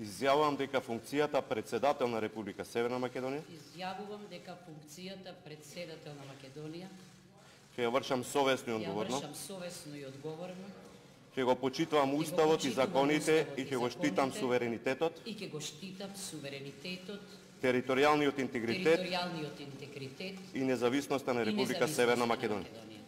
Изјавувам дека функцијата председател на Република Северна Македонија Изјавувам дека функцијата председател на Македонија ќе ја вршам совесно и ја одговорно, вршам совесно и одговорно, ќе го почитувам уставот и законите и ќе го штитам суверенитетот, и ќе го штитам суверенитетот, територијалниот интегритет територијалниот интегритет и независноста на и Република независноста Северна на Македонија. Македонија.